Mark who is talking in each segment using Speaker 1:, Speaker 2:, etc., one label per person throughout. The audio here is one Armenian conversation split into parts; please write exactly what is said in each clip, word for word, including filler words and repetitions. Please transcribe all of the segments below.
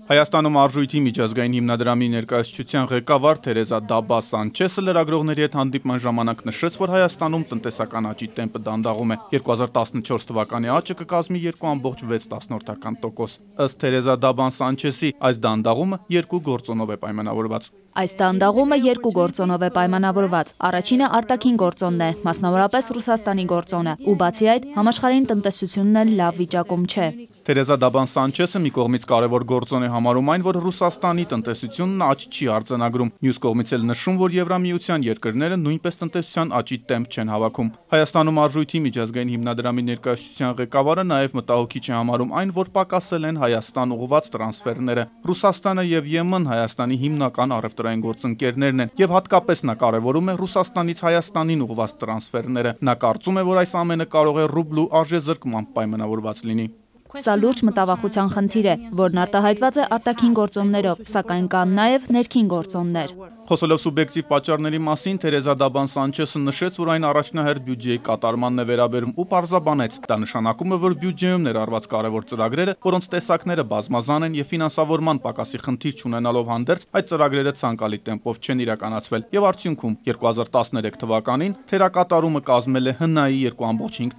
Speaker 1: Հայաստանում արժույթի միջազգային հիմնադրամի ներկայացուցչության ղեկավար Թերեզա Դաբա Սանչեսը լրագրողների հետ հանդիպման ժամանակ նշեց, որ Հայաստանում տնտեսական աճի տեմպը դանդաղում է։ երկու հազար տասնչորս թվականի աճը կկազմի երկու կόμμα վեց տոկոս։ Ըստ Թերեզա Դաբան Սանչեսի, այս դանդաղումը երկու գործոնով է պայմանավորված։
Speaker 2: Այս դանդաղումը երկու գործոնով է պայմանավորված։ Առաջինը արտաքին գործոնն է, մասնավորապես Ռուսաստանի գործոնը, ու բացի այդ, համաշխարհային տնտեսությունն էլ լավ վիճակում չէ։
Speaker 1: Թերեզա Դաբան Սանչեսը մի կողմից կարևոր գործոն է համարում այն, որ Ռուսաստանի տնտեսությունն աճ չի արձանագրում։ Մյուս կողմից էլ նշում, որ Եվրամիության երկրները նույնպես տնտեսության աճի տեմպ չեն հավաքում։ Հայաստանում արժույթի միջազգային հիմնադրամի ներկայացուցչության ղեկավարը նաև մտահոգիչ է համարում այն, որ պակասել են Հայաստան ուղղված տրանսֆերները։ Ռուսաստանը եւ Եմեն Հայաստանի հիմնական առևտրային գործընկերներն են, եւ հատկապես նա կարևորում է Ռուսաստանից Հայաստանին ուղղված տրանսֆերները։ Նա կարծում է, որ այս ամենը կարող է ռուբլու արժեզրկմամբ պայմանավորված լինի։
Speaker 2: Սա լուրջ մտավախության խնդիր է, որն արտահայտված է արտաքին գործոններով, սակայն կան նաև ներքին գործոններ։
Speaker 1: Խոսելով սուբյեկտիվ պատճառների մասին, Թերեզա Դաբան Սանչեսը նշեց, որ այն առաջնահերթ բյուջեի կատարմանն է վերաբերում ու պարզաբանեց, դա նշանակում է, որ բյուջեում ներառված կարևոր ծրագրերը, որոնց տեսակները բազմազան են եւ ֆինանսավորման պակասի խնդիր չունենալով հանդերձ, այդ ծրագրերը ցանկալի տեմպով չեն իրականացվել եւ արդյունքում երկու հազար տասներեք թվականին թերակատարումը կազմել է ՀՆԱ-ի երկու կόμμα հինգ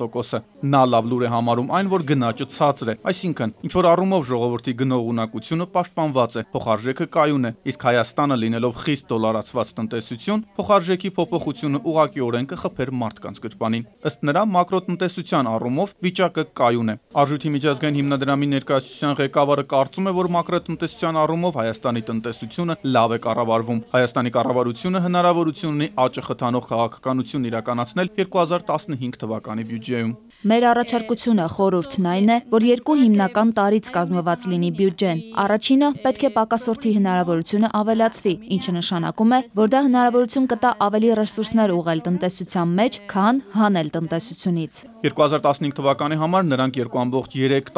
Speaker 1: տոկոսը։ Նա լավ լուր է համարում այն, որ գնաճը ցածր է, այսինքն ինչ որ առումով ժողովրդի գնող ունակությունը պաշտպանված է, փոխարժեքը կայուն է, իսկ Հայաստանը լինելով խիստ դոլարացված տնտեսություն, փոխարժեքի փոփոխությունը ուղղակիորեն կխփեր մարդկանց գրպանին։ Ըստ նրա, մակրոտնտեսության առումով վիճակը կայուն է։ Արժույթի միջազգային հիմնադրամի ներկայացուցչության ղեկավարը կարծում է, որ մակրոտնտեսության առումով Հայաստանի տնտեսությունը լավ է կառավարվում։ Հայաստանի կառավարությունը հնարավորություն ունի աճը խթանող քաղաքականություն իրականացնել երկու հազար տասնհինգ թվականի բյուջեում։
Speaker 2: Մեր առաջարկությունը խորհուրդն այն է, որ երկու հիմնական տարրից կազմված լինի բյուջեն։ Առաջինը պետք է պակասորդի հնարավորությունը ավելացվի, ինչը նշանակում է, որ դա հնարավորություն կտա ավելի ռեսուրսներ ուղղել տնտեսության մեջ, քան հանել տնտեսությունից։
Speaker 1: երկու հազար տասնհինգ թվականի համար նրանք երկու կόμμα երեք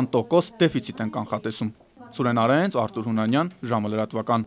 Speaker 1: տոկոս դեֆիցիտ են կանխատեսում։ Սուրեն Արենց, Արտուր Հունանյան, ժամը լրատվական։